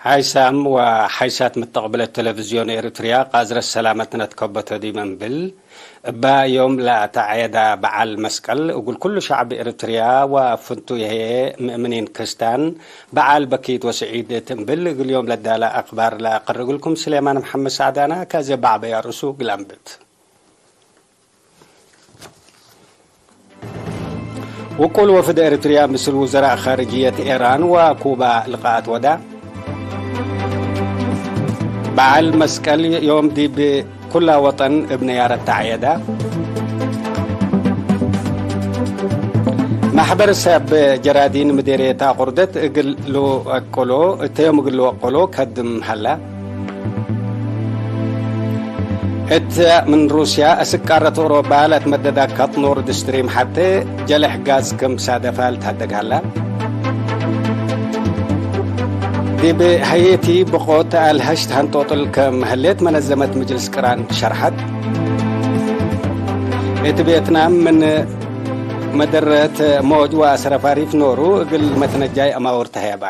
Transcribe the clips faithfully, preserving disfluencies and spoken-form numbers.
ሓይሳም ወሓይሳት መተቅብለት ቴሌቪዝዮን ኤሪትርያ፣ ቃዝረት ሰላመትነ ትከበቶ ዲብ እንብል፣ እበ ዮም ለአተዐየዳ በዓል መስቀል፣ እግል ኩሉ ሸዕብ ኤሪትርያ ወፍንቱይ ህዬ ምእምኒን ክስታን፣ በዓል በኪት ወስዒድ እት እንብል፣ እግል ዮም ለዳለ አክባር ለአቀርግልኩም ስሌማን መሐመድ ሳዕዳና፣ ከዘ በዐበያ ርእሱ እግል አንብት። ውቁል ወፍድ ኤሪትርያ ምስል ውዘራእ ካርጅየት ኤራን ወኩባ ልቃአት ወዳ። በዓል መስቀል ዮም ዲብ ኩላ ወጠን እብ ነያረት ተዐየዳ። ማሕበር ሰብ ጀራዲን ምዴርየት አቁርደት እግል ልወቅሎ፣ እተ ዮም እግል ልወቅሎ ከድም ሀላ። እት ምን ሩስያ እስክ ቃረት ኦሮባ ለትመደዳከት ኖርድ ስትሪም ሐቴ ጀለሕ ጋዝ ክም ሳደፋ ልትሀደግ ሀላ። ዲብ ሀየቲ ብቆት አልሀሽት ሀንጦጥል ክም ህሌት መነዘመት ምጅልስ ቅራን ሸርሐት። እት ቬትናም ምን መደረት ሞጅ ወአሰረፋሪፍ ኖሩ እግል መትነጃይ አማውር ተህየባ።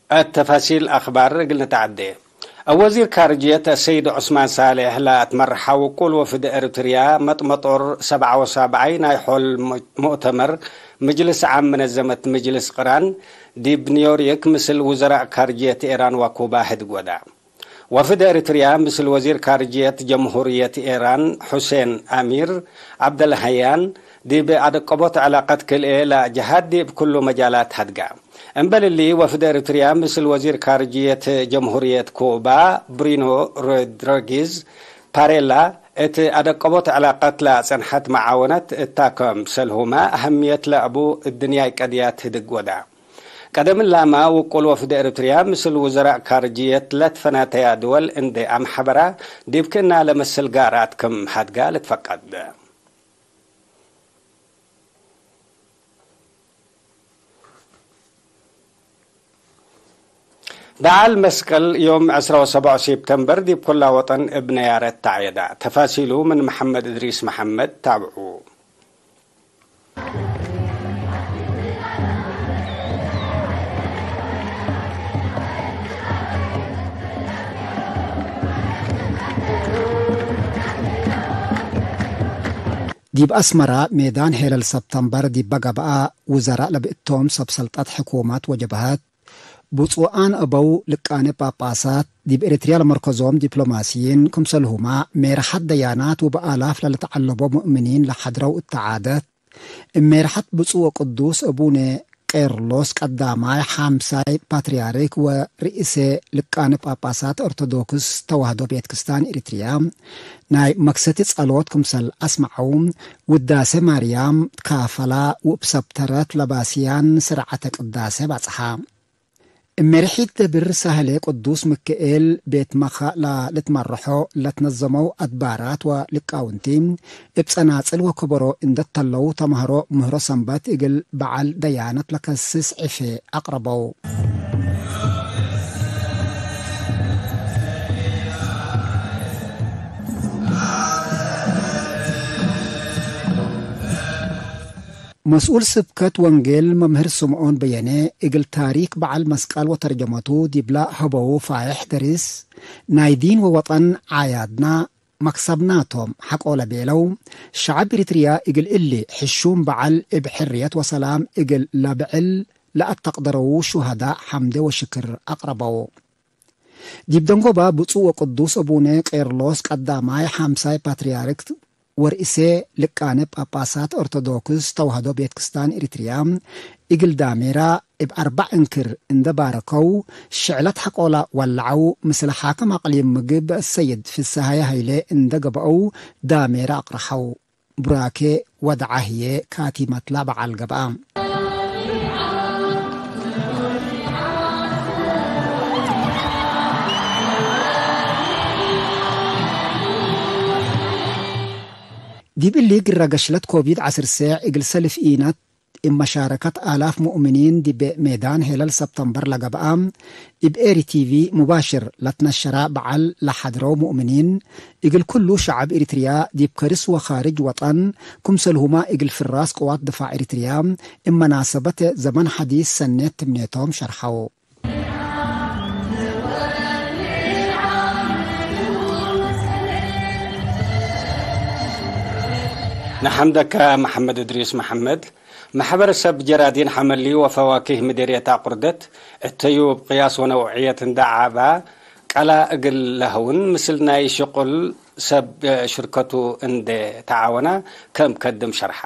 እት ተፋሲል አክባር እግል ንትዐዴ። እብ ወዚር ካርጅየት አሰይድ ዑስማን ሳሌሕ ለአትመርሐ ውቁል ወፍድ ኤሪትርያ መጥመጦር ሰብዓ ወሳብዓይ ናይ ሖል ሙእተመር ምጅልስ ዓም መነዘመት ምጅልስ ቅራን ዲብ ኒውዮርክ ምስል ውዘራእ ካርጅየት ኤራን ወኩባ ህድግ ወዳ። ወፍድ ኤሪትርያ ምስል ወዚር ካርጅየት ጀምሁርየት ኤራን ሑሴን አሚር ዐብደልሀያን ዲብ አደቀቦት ዕላቀት ክልኤ ለአጀሃት ዲብ ኩሉ መጃላት ሀድጋ። እምበል እሊ፣ ወፍድ ኤሪትርያ ምስል ወዚር ካርጅየት ጀምሁርየት ኩባ ብሪኖ ሮድሪጊዝ ፓሬላ እት አደቀቦት ዕላቀት ለአጸንሐት መዓወነት እታ ከምሰልሁመ አህምየት ለአቡ እድንያይ ቀድያት ህድግ ወዳ። ቀደም እላመ፣ ውቁል ወፍድ ኤሪትርያ ምስል ውዘራእ ካርጅየት ለትፈናተያ ድወል እንዴ አምሐበራ፣ ዲብ ክእና ለመስል ጋራት ክም ሀድጋ ልትፈቀድ። በዓል መስቀል ዮም ዕስራ ወሰብዕ ሴፕተምበር ዲብ ኩላ ወጠን እብ ነያረት ተዐየዳ። ተፋሲሉ ምን መሐመድ እድሪስ መሐመድ ታብዑ። ዲብ አስመራ ሜዳን ሄለል ሰብተምበር ዲበ ገብአ፣ ውዘራእ ለብእቶም ሰብ ሰልጠት ሕኩመት ወጀብሀት፣ ብጹኣን አበው ልቃነ ጳጳሳት፣ ዲብ ኤሪትርያ ለመርከዞም ዲፕሎማስይን፣ ክምሰልሁመ ሜርሐት ደያናት ወበአላፍ ለልትዐለቦ ሙእምኒን ለሐድረው እተ ዓደት፣ እብ ሜርሐት ብጹእ ወቅዱስ አቡነ ቄርሎስ ቀዳማይ ሓምሳይ ፓትርያርክ ወርእሰ ልቃነ ጳጳሳት ኦርቶዶክስ ተዋህዶ ቤት ክርስቲያን ኤሪትርያ፣ ናይ መክሰቲ ጸሎት ክምሰል አስመዐው፣ ውዳሴ ማርያም ትካፈላ፣ ወእብ ሰብተረት ለባስያን ስርዓተ ቅዳሴ ባጽሓ። እሜርሒት ደብር ሳህሌ ቅዱስ ምክኤል ቤት መኻእ ለልትመረሖ ለትነዘመው አድባራት ወልቃውንቲ፣ እብ ጸናጽል ወከበሮ እንደ ተለው ተማህሮ ምህሮ ሰንበት እግል በዓል ደያነት ለከስስ ዕፌ አቅረበው። መስኡል ስብከት ወንጌል መምህር ስምዖን በየነ፣ እግል ታሪክ በዓል መስቀል ወተርጀመቱ ዲብላ ሀበው ፋይሕ ደርስ፣ ናይ ዲን ወወጠን ዓያድና መክሰብናቶም ሐቆ ለቤለው፣ ሸዐብ ኤሪትርያ እግል እሊ ሕሹም በዓል እብ ሕርየት ወሰላም እግል ለብዕል ለአተቅደረዉ ሹሀዳእ ሐምዴ ወሽክር አቅረበው። ዲብ ደንጎባ ብፁዕ ወቅዱስ አቡነ ቄርሎስ ቀዳማይ ሐምሳይ ፓትርያርክ ወርእሰ ልቃነ ጳጳሳት ኦርቶዶክስ ተዋህዶ ቤት ክስታን ኤሪትርያ እግል ዳሜራ እብ አርበዕ እንክር እንደ ባረከው፣ ሽዕለት ሐቆላ ወለዐው። ምስለ ሓክም አቅሊም ምግብ ሰይድ ፍሰሃየ ሀይሌ እንደ ገብአው ዳሜራ አቅረሐው። ቡራኬ ወድዓ ህዬ ካቲመትላ በዓል ገብአ። ዲብ እሊ ግረ ገሽለት ኮቪድ ዐስር ሴዕ እግል ሰልፍ ኢነት እብ መሻረከት አላፍ ሙእምኒን ዲብ ሜዳን ሄለል ሰብተምበር ለገብአ፣ እብ ኤሪ ቲቪ ሙባሽር ለትነሸራ በዓል ለሐድረው ሙእምኒን፣ እግል ኩሉ ሸዐብ ኤሪትርያ ዲብ ከርስ ወካርጅ ወጠን፣ ክምሰልሁመ እግል ፍራስ ቅዋት ድፋዕ ኤሪትርያ፣ እብ መናሰበት ዘመን ሐዲስ ሰኔት ትምኔቶም ሸርሐው። ነሐምደከ መሐመድ እድሪስ መሐመድ። መሕበር ሰብ ጀራዲን ሐመሊ ወፈዋኪህ ምዴርየት አቁርደት፣ እተዩ እብ ቅያስ ወነውዕየት እንደ ዓባ፣ ቀላ እግል ለሀውን ምስል ናይ ሽቁል ሰብ ሽርከቱ እንዴ ተዓወና ከም ከድም ሸርሓ።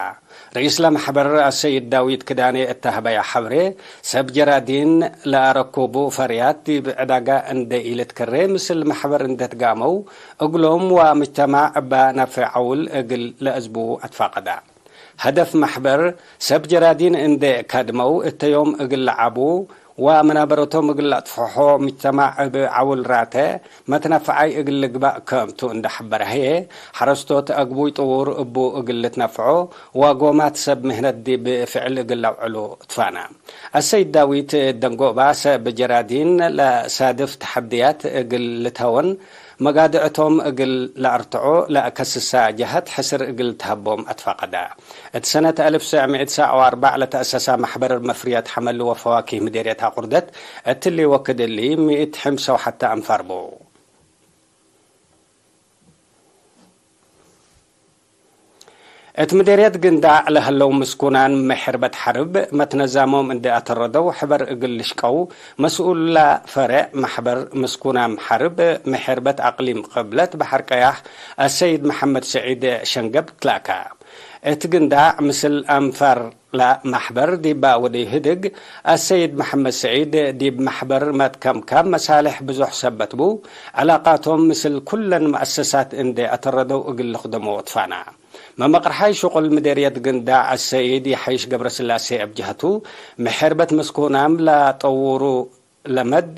ርኢስ ለመሕበር አሰይድ ዳዊት ክዳኔ እተ ሀበያ ሐብሬ፣ ሰብ ጀራዲን ለአረኩቡ ፈርያት ዲብ ዕዳጋ እንዴ ኢልትከሬ ምስል መሕበር እንዴ ትጋመው እግሎም ወምጅተማዕ እበ ናፍዕ ዐውል እግል ለአዝቡ አትፋቀዳ። ሀደፍ መሕበር፣ ሰብ ጀራዲን እንዴ ካድመው እተ ዮም እግል ለዓቡ ወመናበረቶም እግል ለአጥፍሖ ምጅተማዕ እብ ዐውል ራተ መትነፈዓይ እግል ልግባእ ከምቱ እንዴ ሐበረ ህዬ፣ ሐረስቶት አግቡይ ጥዉር እቡ እግል ልትነፍዖ ወጎማት ሰብ ምህነት ዲብ ፍዕል እግል ለአውዕሉ ትፋና። አሰይድ ዳዊት ደንጎባ፣ ሰብ ጀራዲን ለሳድፍ ተሐድያት እግል ልትሀወን፣ መጋድዕቶም እግል ለአርትዖ ለአከስሳ ጀሀት ሕስር እግል ተሀቦም አትፋቀዳ። እት ሰነት አልፍ ሰዕ ምእት ሰዕ ወአርበዕ ለተአሰሳ መሕበር መፍርየት ሐመል ወፈዋኪህ ምዴርየት አቁርደት፣ እትሊ ወክድ እሊ ምእት ሕምሰ ወሐተ አንፋር ቡ። እት ምዴርየት ግንዳዕ ለሀለው ምስኩናን ምሕርበት ሐርብ መትነዛሞም እንዴ አተረደው ሕበር እግል ልሽቀው መስኡላ ፈሬዕ መሕበር ምስኩናም ሐርብ ምሕርበት አቅሊም ቅብለት በሐር ቀያሕ አሰይድ መሐመድ ሰዒድ ሸንገብ ትላካ። እት ግንዳዕ ምስል አንፋር ለመሕበር ዲባ ወደይ ህድግ፣ አሰይድ መሐመድ ሰዒድ ዲብ መሕበር መትከምካም መሳልሕ ብዙሕ ሰበት ቡ፣ ዕላቃቶም ምስል ኩለን መአሰሳት እንዴ አተረደው እግል ልክደሞ ትፋና። መመቅርሓይ ሽቁል ምዴርየት ግንዳዕ አሰይድ የሐይሽ ገብረስላሴ እብ ጀህቱ፣ ምሕርበት ምስኩናም ለጠውሩ ለመድ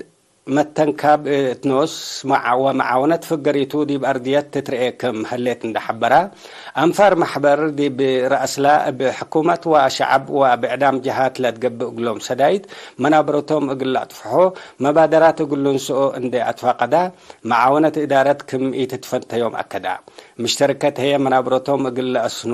መተንካብ እት ኖስ መዓ-፣ ወመዓወነት ፍገሪቱ ዲብ አርድየት ትትርኤ ክም ህሌት እንደ ሐበራ፣ አንፋር መሕበር ዲብ ረአስላ እብ ሕኩመት ወሸዐብ ወብዕዳም ጀሃት ለትገብእ እግሎም ሰዳይት መናበረቶም እግል ለአጥፍሖ መባደራት እግል ልንስኦ እንዴ አትፋቀዳ፣ መዓወነት እዳረት ክም ኢትትፈንተዮም አከዳ። ምሽተርከት ህዬ መናብረቶም እግል ለአስኑ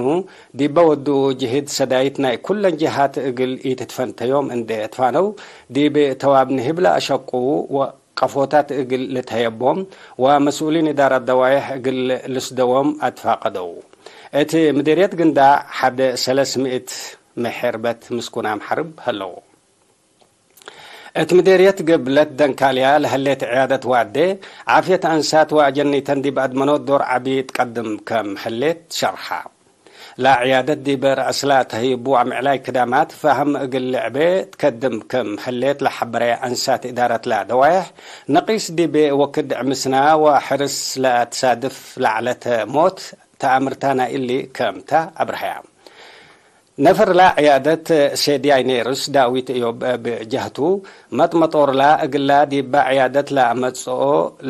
ዲበ ወዱ ጅህድ ሰዳይት ናይ ኩለን ጀሃት እግል ኢትትፈንተዮም እንዴ ትፋነው፣ ዲብ ተዋብ ንህብ ለአሸቁ ወቀፎታት እግል ልትሀየቦም ወመስኡሊን እዳረት ደዋየሕ እግል ልስደዎም አትፋቀደው። እት ምዴርየት ግንዳዕ ሐደ ሰለስ ምእት ምሕርበት ምስኩናም ሐርብ ሀለው። እት ምዴርየት ግብለት ደንካልያ ለህሌት ዕያደት ዋዴ ዓፍየት አንሳት ወአጀኒተን ዲብ አድመኖት ዶር ዐቢ ትቀድም ከም ህሌት ሸርሐ። ለዕያደት ዲብ ረአስላ ተህይቡ አምዕላይ ክዳማት ፋህም እግል ልዕቤ ትከድም ከም ህሌት ለሐበረ አንሳት እዳረትላ ደዋየሕ፣ ነቂስ ዲብ ወክድ ዕምስና ወሕርስ ለአትሳድፍ ለዐለት ሞት ተአምርታ ናይ እሊ ከምተ አብርሀያ። ነፈርላ ዕያደት ሴድያይ ኔርስ ዳዊት እዮብ እብ ጀህቱ፣ መጥመጦርላ እግላ ዲባ ዕያደት ለአመጽኦ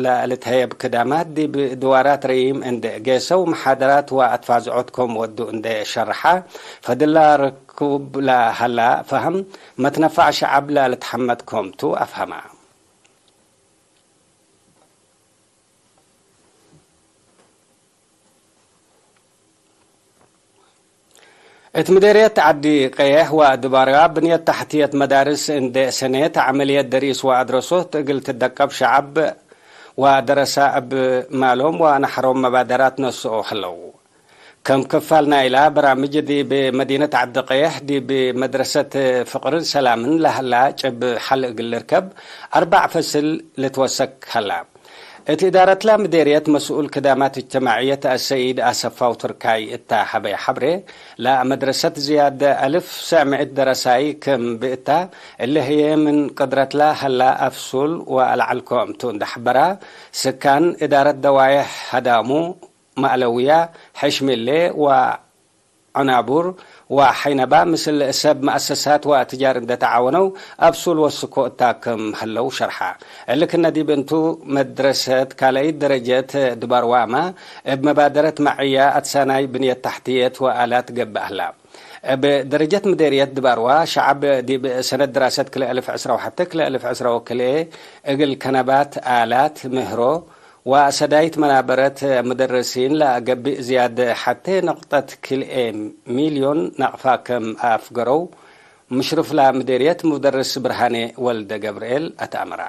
ለልትሀየብ ክዳማት ዲብ ድዋራት ረዪም እንዴ ጌሰው፣ መሓደራት ወአትፋዝዖት ኮም ወዱ እንዴ ሸርሐ፣ ፈድላ ርኩብ ለሀላ ፈህም መትነፋዕ ሸዐብ ለልትሐመድ ኮም ቱ አፍሀማ። እት ምዴርየት ዐዲ ቀየሕ ወአድባርዋ ብንየት ተሕትየት መዳርስ እንዴ ሰኔት ዐመልየት ደሪስ ወአድረሶት እግል ትደቀብ ሸዐብ ወደረሳ እብ ማሎም ወነሐሮም መባደራት ነስኦ ህለው። ከም ክፋል ናይላ በራምጅ ዲብ መዲነት ዐዲ ቀየሕ ዲብ መድረሰት ፍቅርን ሰላምን ለሀላ ጭብ ሐል እግል ልርከብ አርበዕ ፈስል ልትወሰክ ሀላ። እት እዳረትላ ምዴርየት መስኡል ክዳማት እጅትማዕየት አሰይድ አሰፋው ትርካይ እታ ሀበየ ሐብሬ፣ ለመድረሰት ዝያድ አልፍ ሰዕ ምእት ደረሳይ ክም ብእታ፣ እሊ ህዬ ምን ቅድረትላ ሀላ አፍሱል ወአልዐልኮ እምቱ እንደ ሐበራ፣ ስካን እዳረት ደዋየሕ ሀዳሙ፣ መዕለውያ፣ ሕሽሚሌ ወ ዐናቡር ወሐይነባ ምስል ሰብ መአሰሳት ወአትጃር እንደ ተዓወነው አብሱል ወስኮ እታ ክም ህለው ሸርሐ። እሊ ክነ ዲብ እንቱ መድረሰት ካልአይት ደረጀት ድባርዋመ እብ መባደረት መዕያ አትሳናይ ብንየት ተሕትየት ወአላት ገብእ ህላ። እብ ደረጀት ምዴርየት ድባርዋ ሸዐብ ዲብ ሰነት ድራሰት ክልኤ አልፍ ዕስራ ወሐተ ክልኤ አልፍ ዕስራ ወክልኤ እግል ከነባት አላት ምህሮ ወሰዳይት መናበረት ሙደርሲን ለአገብእ ዝያድ ሐቴ ነቅጠት ክልኤ ሚልዮን ናቅፋ ከም አፍገረው፣ ምሽርፍላ ምዴርየት ሙደርስ ብርሃኔ ወልደ ገብርኤል አትአመራ።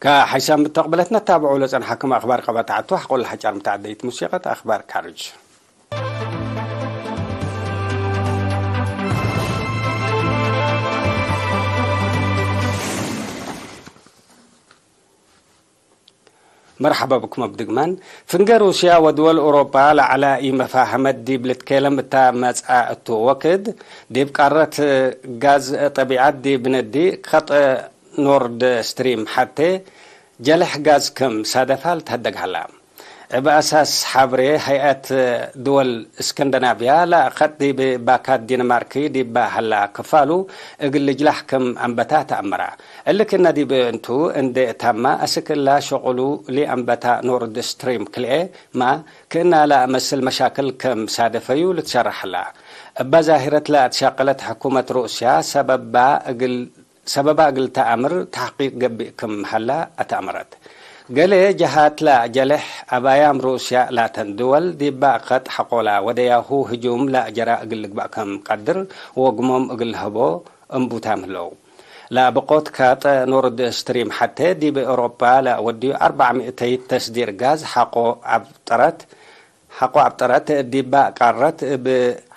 ከሐይሳም ምተቅብለትነ ታብዑ ለጸንሐክም አክባር ቀበት ዐቱ፣ ሐቆለ ሐጫር ምተዐደይት ሙሲቀት አክባር ካርጅ። መርሐባ ብኩም እብ ድግማን። ፍንጌ ሩስያ ወድወል ኦሮፓ ለዐለ ኢመፋሀመት ዲብ ልትኬለም እተ መጽአ እቱ ወክድ፣ ዲብ ቃረት ጋዝ ጠቢዐት ዲብ ነዲ ከጥ ኖርድ ስትሪም ሐቴ ጀለሕ ጋዝ ክም ሳደፋ ልትሀደግ ሀላ። እብ አሳስ ሐብሬ፣ ሀይአት ድወል እስክንደናብያ ለአከጥ ዲብ ባካት ዲንማርክ ዲበ ሀላ ክፋሉ እግል ልጅላሕ ክም አንበታ ተአመረ። እሊ ክእነ ዲብ እንቱ እንዴ ታመ፣ አስክ እላ ሸቁሉ ለአንበታ ኖርድ ስትሪም ክልኤ ማ ክእነ ለአመስል መሻክል ክም ሳደፈዩ ልትሸረሕ ሀላ። እበ ዛሂረት ለአትሻቀለት ሕኩመት ሩስያ ሰበባ እግል ሰበባ እግል ተአምር ተሕቂቅ ገብእ ክም ሀላ አትአመረት። ገሌ ጀሃት ለአጀልሕ አባያም ሩስያ ላተን ድወል ዲበ አከጥ ሐቆላ ወደያሁ ህጁም ለአጀራ እግል ልግበእ ክም ቀድር ወግሞም እግል ለሀቦ እንቡታም ህለው። ለብቆት ከጥ ኖርድ ስትሪም ሐቴ ዲብ ኤውሮፓ ለወድዩ አርበዕ ምእተይት ተስዲር ጋዝ ሐቆ አብጠረት ሐቆ አብጠረት ዲበ ቃረት እብ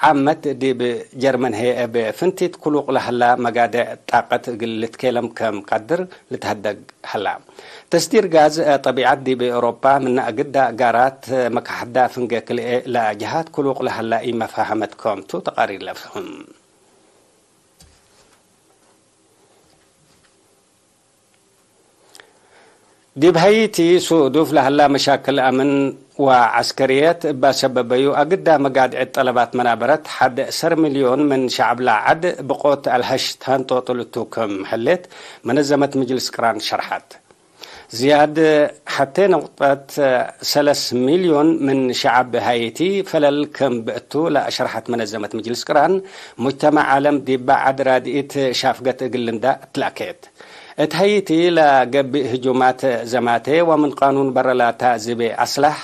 ዓመት ዲብ ጀርመን ህዬ እብ ፍንቲት ክሉቅ ለሀላ መጋዴዕ ጣቀት እግል ልትኬለም ከም ቀድር ልትሀደግ ሀላ። ተስዲር ጋዝ ጠቢዐት ዲብ ኤውሮፓ ምነ አግዳ ጋራት መካሕዳ ፍንጌ ክልኤ ለጀሃት ክሉቅ ለሀላ ኢመፋሀመት ከምቱ ተቃሪር ለፍህም። ዲብ ሀይቲ ሱዱፍ ለሀላ መሻክል አምን ወዐስከርየት እባ ሰበበዩ፣ አግዳ መጋድዕት ጠለባት መናበረት ሐድ ሰር ሚልዮን ምን ሸዐብ ለዐድ ብቆት አልሀሽ ተንጦጥል እቱ ክም ህሌት መነዘመት ምጅልስ ቅራን ሸርሐት። ዝያድ ሐቴ ነቁጠት ሰለስ ሚልዮን ምን ሸዐብ ሀይቲ ፈለል ክም ብእቱ ለአሸርሐት መነዘመት ምጅልስ ቅራን፣ ሙጅተማዕ ዓለም ዲበ ዐድ ራድኢት ሻፍገት እግል ልንዳ እትላኬት። እት ሀይቲ ለገብእ ህጁማት ዘማቴ ወምን ቃኑን በረ ላታ ዝቤ አስላሕ፣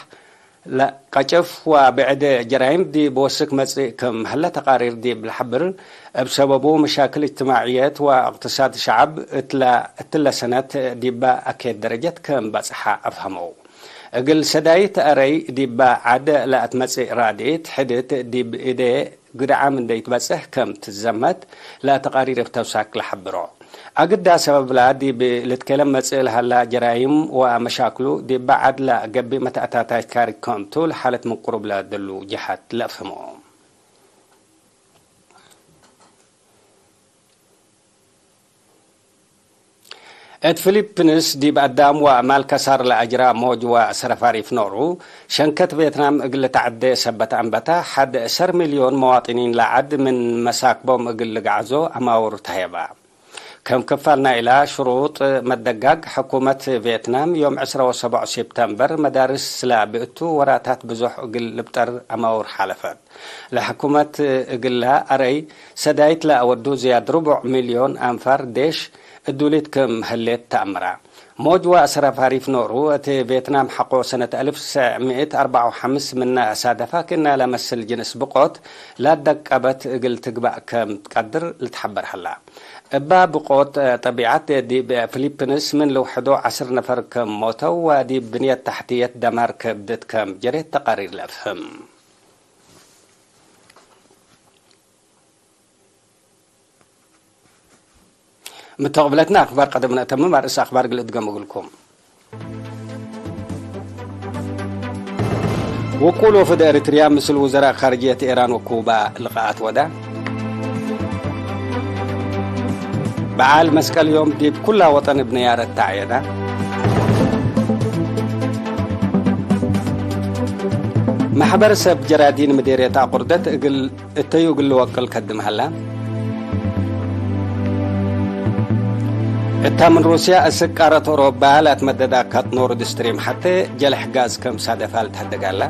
ለቀጭፍ ወብዕድ ጀራይም ዲብ ወስክ መጽእ ክም ሀለ ተቃሪር ዲብ ለሐብር፣ እብ ሰበቡ መሻክል እጅትማዕየት ወእቅትሳድ ሸዐብ እትለ፣ እትለ ሰነት ዲበ አኬት ደረጀት ክም በጽሐ አፍሀመው። እግል ሰዳይት አረይ ዲበ ዐድ ለአትመጽእ ራድኢት ሕድት ዲብ እዴ ግድዓም እንዴ ኢትበጽሕ ክም ትዘመት ለተቃሪር እብ ተውሳክ ለሐብሮ። አግዳ ሰበብላ ዲብ ልትኬለም መጽእ ለሀላ ጀራይም ወመሻክሉ ዲበ ዐድ ለገብእ መተአታታይት ካሪ ክምቱ ለሓለት ምን ቅሩብ ለደሉ ጀሃት ለአፍህሞ። እት ፊሊፕንስ ዲብ አዳም ወማል ከሳር ለአጅራ ሞጅ ወሰረፋሪፍ ኖሩ፣ ሸንከት ቬትናም እግል ልትዐዴ ሰበት አንበታ፣ ሐድ ሰር ሚልዮን መዋጥኒን ለዐድ ምን መሳክቦም እግል ልግዓዞ አማውር ተህየባ። ከም ክፋል ናይላ ሽሩጥ መደጋግ፣ ሕኩመት ቬትናም ዮም ዕስራ ወሰቡዕ ሴፕተምበር መዳርስ ለብእቱ ወራታት ብዞሕ እግል ልብጠር አማውር ሓለፈት። ለሕኩመት እግላ አረይ ሰዳይት ለአወዱ ዝያድ ርቡዕ ሚልዮን አንፋር ዴሽ እዱሊት ክም ህሌት ተአምራ። ሞጅ ወአስራፍ አሪፍ ኖሩ፣ እት ቬትናም ሐቆ ሰነት አልፍ ወትሰዕ ምእት አርበዕ ወሐምስ ምነ አሳደፋ ክእነ ለመስል ጅንስ ብቆት ላደቀበት እግል ትግባእ ከም ትቀድር ልትሐበር ሀላ። እባ ብቆት ጠቢዐት ዲብ ፊሊፕንስ ምን ልውሕዶ ዐስር ነፈር ከም ሞተው ወዲብ ብንየት ተሕትየት ደማር ከብደት ከም ጀሬት ተቃሪር ለአፍህም። ምተቅብለትነ አክባር ቀደም ነአተምም፣ አርእስ አክባር እግል እድገም እግልኩም። ውቁል ወፍድ ኤሪትርያ ምስል ውዘራእ ካርጅየት ኤራን ወኩባ ልቃኣት ወዳ። በዓል መስቀል ዮም ዲብ ኩላ ወጠን እብ ነያረት ተዐየዳ። መሕበር ሰብ ጀራዲን ምዴርየት አቁርደት እግል እተዩ እግል ልወቅል ከድም ሀላ። እታ ምን ሩስያ እስክ ቃረት ኦሮባ ለአትመደድ አካት ኖርድ ስትሪም ሐቴ ጀለሕ ጋዝ ከም ሳደፋ ልትሀደግ ሀላ።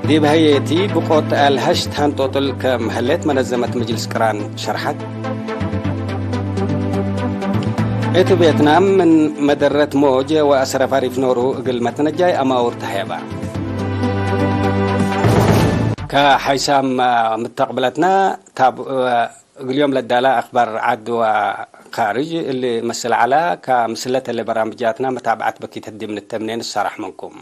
ዲብ ሀዬቲ ብቆት አልሀሽ ተሀንጦጥል ከም ህሌት መነዘመት ምጅልስ ቅራን ሸርሐት። እት ቬትናም ምን መደረት ሞጀ ወአስረፍ አሪፍ ኖሩ እግል መትነጃይ አማውር ተሀየባ። ከሐይሳም ምተቅብለትና ታብ እግል ዮም ለዳላ አክባር ዐድ ወ ካርጅ እሊ መስል ዐላ፣ ከ ምስለተ ለበራምጃትና መታብዐት በኪተት ዲብ ንተምኔ ንሰራሕ ምንኩም።